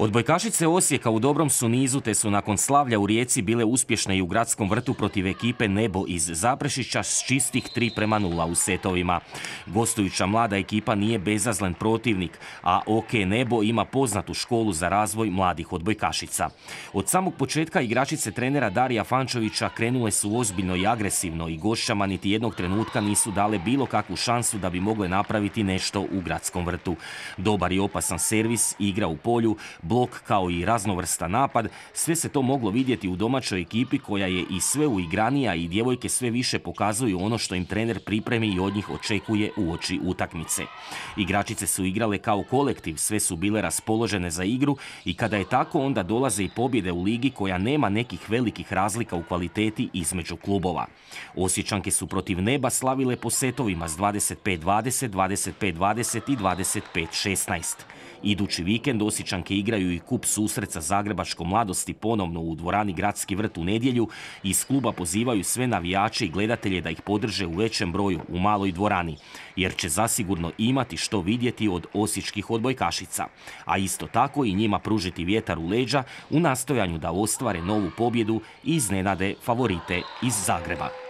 Odbojkašice Osijeka u dobrom su nizu te su nakon slavlja u Rijeci bile uspješne i u gradskom vrtu protiv ekipe Nebo iz Zaprešića s čistih 3:0 u setovima. Gostujuća mlada ekipa nije bezazlen protivnik, a OK Nebo ima poznatu školu za razvoj mladih odbojkašica. Od samog početka igračice trenera Darija Fančovića krenule su ozbiljno i agresivno i gošćama niti jednog trenutka nisu dale bilo kakvu šansu da bi mogle napraviti nešto u gradskom vrtu. Dobar i opasan servis, igra u polju, blok kao i raznovrstan napad, sve se to moglo vidjeti u domaćoj ekipi koja je i sve uigranija i djevojke sve više pokazuju ono što im trener pripremi i od njih očekuje uoči utakmice. Igračice su igrale kao kolektiv, sve su bile raspoložene za igru i kada je tako onda dolaze i pobjede u ligi koja nema nekih velikih razlika u kvaliteti između klubova. Osječanke su protiv Neba slavile po setovima s 25-20, 25-20 i 25-16. Idući vikend Osječanke igraju i kup susret Zagrebačkom Mladosti ponovno u dvorani Gradski vrt u nedjelju i iz kluba pozivaju sve navijače i gledatelje da ih podrže u većem broju u maloj dvorani, jer će zasigurno imati što vidjeti od osječkih odbojkašica, a isto tako i njima pružiti vjetar u leđa u nastojanju da ostvare novu pobjedu i iznenade favorite iz Zagreba.